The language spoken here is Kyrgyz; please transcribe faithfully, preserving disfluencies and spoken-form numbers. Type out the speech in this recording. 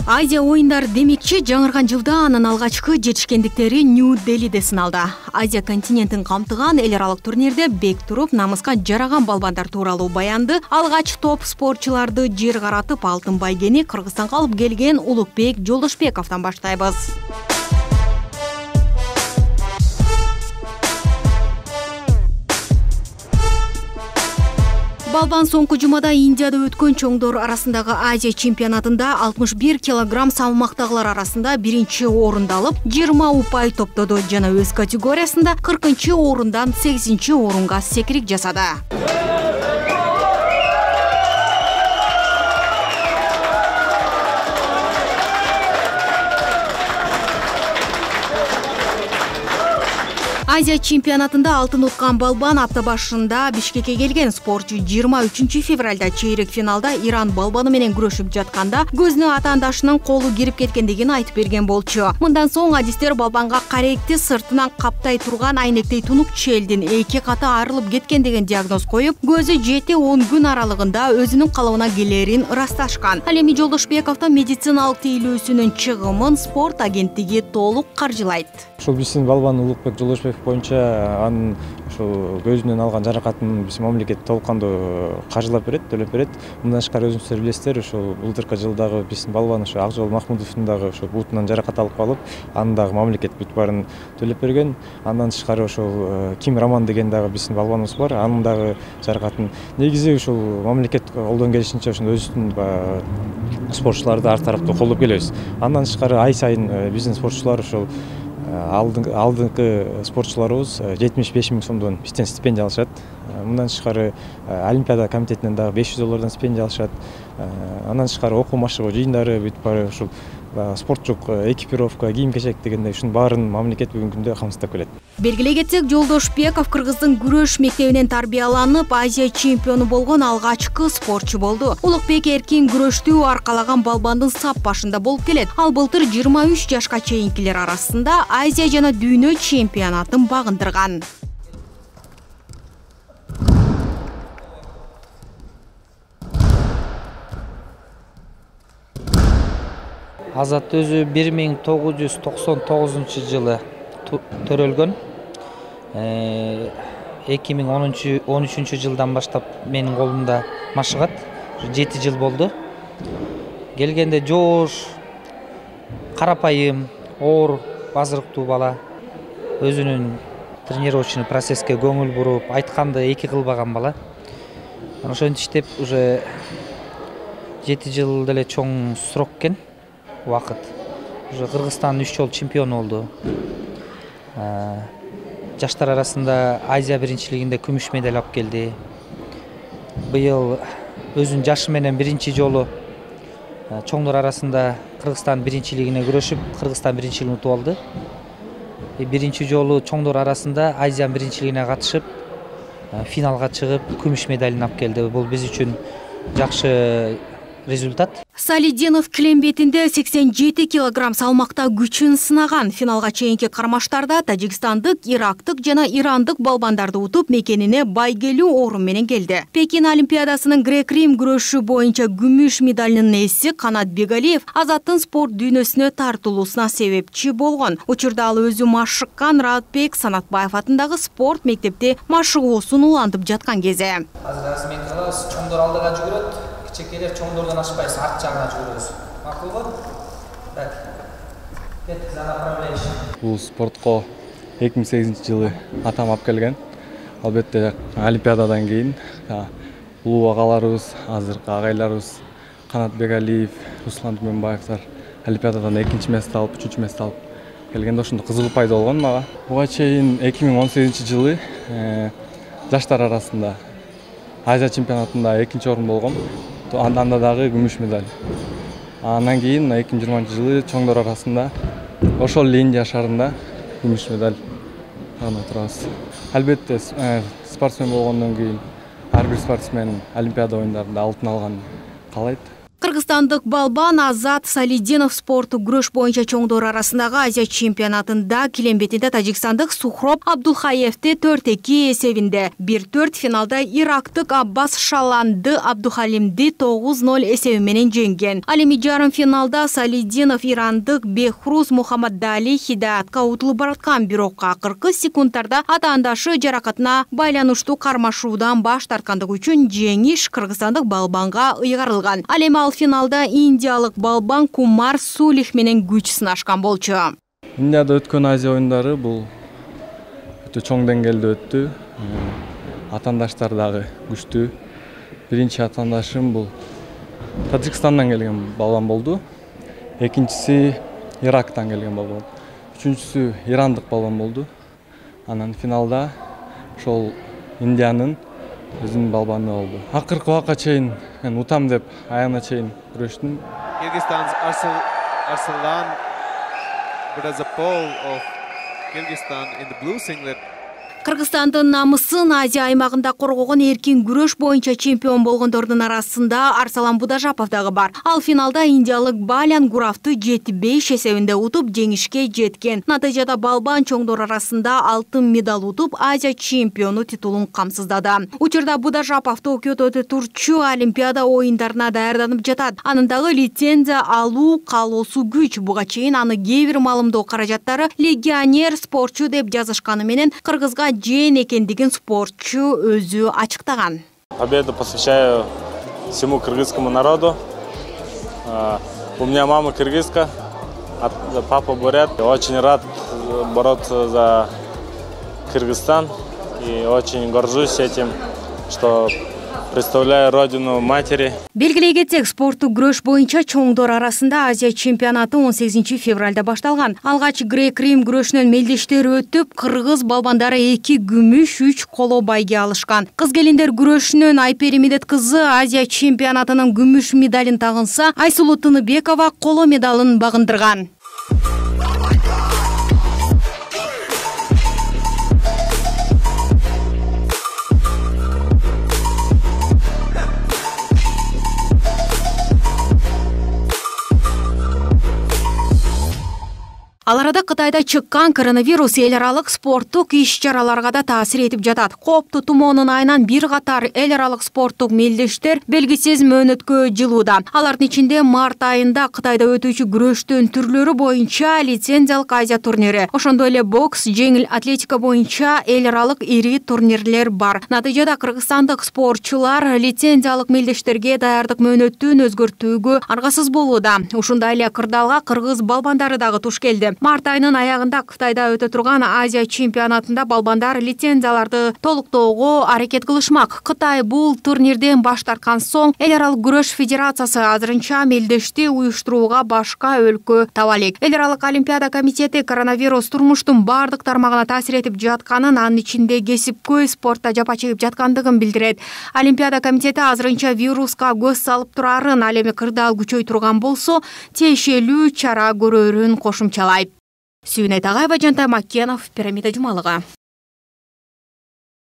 Азия оюндары демекчи жаңырган жылда анын алгачкы жетишкендиктери Нью-Делиде сыналды. Азия континентин камтыган эл аралык турнирде бек туруп намыска жараган балбандар тууралуу баянды алгач топ спортчуларды жер каратып алтын байгени Кыргызстанга алып келген Улукбек Жолдошбековдон баштайбыз. Балбан соңку жумада Индияда өткөн чоңдор арасындагы Азия чемпионатында алтымыш бир килограмм салмактагылар арасында биринчи орунду алып, жыйырма упай топтоду жана өз категориясында кыркынчы орундан сегизинчи орунга секирик жасады. Азия чемпионатында алтын уткан балбан апта башында Бишкекке келген. Спортчу жыйырма үчүнчү февралда чейрек финалда Иран балбаны менен күрөшүп жатканда көзүнө атаандашынын колу кирип кеткендигин айтып берген болчу. Мындан соң адистер балбанга каректи сыртынан каптай турган айнектей тунук челдин эки каты айрылып кеткен деген диагноз коюп, көзү жети он күн аралыгында өзүнүн калыбына келерин ырасташкан. Ал эми Жолдошбековдун медициналык тейлөөсүнүн чыгымын спорт агенттиги толук каржылайт. Ушул биздин балбан Улукбек Жолдошбеков боюнча анын ушул көзүнөн алган жаракатын биздин мамлекет толук кандуу каржылап берет, төлөп берет. Мындан тышкары өзүңүздөр билесиздер, ушул былтыркы жылдагы биздин балбан ушу Акжол Махмудовдун дагы ушул бутунан жаракат алып калып, анын дагы мамлекет бүт баарын төлөп берген. Андан тышкары ушул Ким Роман деген дагы биздин балбаныбыз бар, анын дагы жаракатын негизи ушул мамлекет колдон келишинче ушул өзүнүн спортчуларды ар тараптуу колдоп келебиз. Андан тышкары ай сайын биздин спортчулар ушул алдыңкы спортчуларыбыз жетимиш беш миң сомдон бизден стипендия алышат. Мындан тышкары Олимпиада комитетинен дагы беш жүз доллардан стипендия алышат. Андан тышкары окуу машыгуу жыйындары бүт баары ушул спорттук экипировка, кийим-кечек дегендей ушунун баарын мамлекет бүгүнкү күндө камсыздап келет. Белгилей кетсек, Жолдошбеков Кыргыздын күрөш мектебинен тарбияланып, Азия чемпиону болгон алгачкы спортчу болду. Улукбек эркин күрөштү аркалаган балбандын сап башында болуп келет. Ал былтыр жыйырма үч жашка чейинкилер арасында Азия жана дүйнө чемпионатын багындырган. Азат өзү бир миң тогуз жүз токсон тогузунчу жылы төрөлгөн. эки миң он үчүнчү жылдан баштап менин колумда машыгат. жети жыл болду. Келгенде жоош, карапайым, оор, базырыктуу бала. Өзүнүн тренировочный процесске көңүл буруп, айтканды эки кылбаган бала. Ошентип уже жети жыл деле чоң срок экен. Вакыт. Уже Кыргызстан үч жолу чемпион болду. Жаштар арасында Азия биринчилигинде күмүш медаль алып келди. Быйыл өзүнүн жашы менен биринчи жолу чоңдор арасында Кыргызстан биринчилигине күрөшүп, Кыргызстан биринчилигин утуп алды. Биринчи жолу чоңдор арасында Азия биринчилигине катышып, финалга чыгып, күмүш медалын алып келди. Бул биз үчүн жакшы результат. Салидинов килем бетинде сексен жети килограмм салмакта күчүн сынаган. Финалга чейинки кармаштарда тажикстандык, ирактык жана ирандык балбандарды утуп, мекенине байгелүү орун менен келди. Пекин Олимпиадасынын грек-рим күрөшү боюнча күмүш медалынын ээси Канат Бегалиев Азаттын спорт дүйнөсүнө тартылуусуна себепчи болгон. Учурда ал өзү машыккан Радбек Санатбаев атындагы спорт мектепте машыгуусун улантып жаткан кезде. Азыр мен кылабыз, чоңдор алдыга жүгүрөт. Чекелер чоңдордон ашпайсыз, арт жагына жүрөбүз. Макулбу? Так. Кет, за направление. Бул спортко эки миң сегизинчи жылы атам алып келген. Албетте Олимпиададан кийин улуу агаларыбыз, азыркы агайларыбыз Канат Бегалиев, Руслан Түмөнбаевдер Олимпиададан экинчи место алып, үчүнчү место алып келгенде ошондо кызыгуу пайда болгон мага. Буга чейин эки миң он сегизинчи жылы жаштар арасында Азия чемпионатында экинчи орун болгом. Анда дагы күмүш медаль. Андан кийин эки миң жыйырманчы жылы чоңдор арасында ошол эле Индия шаарында күмүш медаль алып турабыз. Албетте спортсмен болгондон кийин ар бир спортсмен Олимпиада оюндарында алтын алганын каалайт. Кыргызстандык балбан Азат Салидинов спорттук күрөш боюнча чоңдор арасындагы Азия чемпионатында килембетинде тажикстандык Сухроб Абдулхаевди төрт эки эсебинде, бир төрт финалда ирактык Аббас Шаланды Абдухалимди тогуз ноль эсеби менен жеңген. Ал эми жарым финалда Салидинов ирандык Бехруз Мухаммадали Хидаятка утулуп бараткан, бирок акыркы секундтарда атаандашы жаракатына байланыштуу кармашуудан баш тарткандыгы үчүн жеңиш кыргызстандык балбанга ыйгарылган. Ал эми ал финалда индиялык балбан Кумар Сулих менен күч сынашкан болчу. Индияда өткөн Азия оюндары бул өтө чоң деңгээлде өттү. Атаандаштар дагы күчтүү. Биринчи атаандашым бул Тажикстандан келген балбан болду. Экинчиси Ирактан келген балбан. Үчүнчүсү ирандык балбан болду. Анан финалда ошол Индиянын өзүнүн балбаны болду. Акыркы убакка чейин мен утам деп аягына чейин күрөштүм. Kyrgyzstan's Arsalan Brazapol of Kyrgyzstan in the blue singlet. Кыргызстандын намысын Азия аймагында коргогон эркин күрөш боюнча чемпион болгондордун арасында Арсалан Будажапов дагы бар. Ал финалда индиялык Балян Гуравды жети беш эсебинде утуп жеңишке жеткен. Натыйжада балбан чоңдор арасында алтын медаль утуп Азия чемпиону титулун камсыздады. Учурда Будажапов Токиодо өтө турчу Олимпиада оюндарына даярданып жатат. Анын дагы лицензия алуу каалоосу күч. Буга чейин аны кээ бир маалымдоо каражаттары легионер спортчу деп жазышканы менен кыргызга жен экендигин спортчу өзү ачыктаган. Победу посвящаю всему кыргызскому народу. У меня мама кыргызка, папа бурят. Очень рад бороться за Кыргызстан и очень горжусь этим, что представляю родину матери. Белгилей кетсек, спорттук күрөш боюнча чоңдор арасында Азия чемпионаты он сегизинчи февралда башталган. Алгач грек-рим күрөшүнөн мелдештер өтүп, кыргыз балбандары эки күмүш, үч коло байге алышкан. Кыз келиндер күрөшүнөн Айпери Медет кызы Азия чемпионатынын күмүш медалын тагынса, Айсулуу Тыныбекова коло медалын багындырган. Ал арада Кытайда чыккан коронавирус эл аралык спорттук иш-чараларга да таасир этип жатат. Кооптуу тумоонун айынан бир катар эл аралык спорттук мелдештер белгисиз мөөнөткө жылууда. Алардын ичинде март айында Кытайда өтүүчү күрөштүн түрлөрү боюнча лицензиялык Азия турнири, ошондой эле бокс, жеңил атлетика боюнча эл аралык ири турнирлер бар. Натыйжада кыргызстандык спортчулар лицензиялык мелдештерге даярдык мөөнөтүн өзгөртүүгө аргасыз болууда. Ушундай эле кырдаалга кыргыз балбандары дагы туш келди. Март айынын аягында Кытайда өтө турган Азия чемпионатында балбандар лицензияларды толуктоого аракет кылышмак. Кытай бул турнирден баш тарткан соң эл аралык күрөш федерациясы азырынча мелдешти уюштурууга башка өлкө таба элек. Эл аралык олимпиада комитети коронавирус турмуштун бардык тармагына таасир этип жатканын, анын ичинде кесипкөй спортто жапа чегип жаткандыгын билдирет. Олимпиада комитети азырынча вируска көз салып турарын, ал эми кырдаал күчөй турган болсо, тиешелүү чара көрөрүн кошумчалайт. Сүйүнөй Тагаева, Жантай Маккенов, Пирамида Жумалыгы.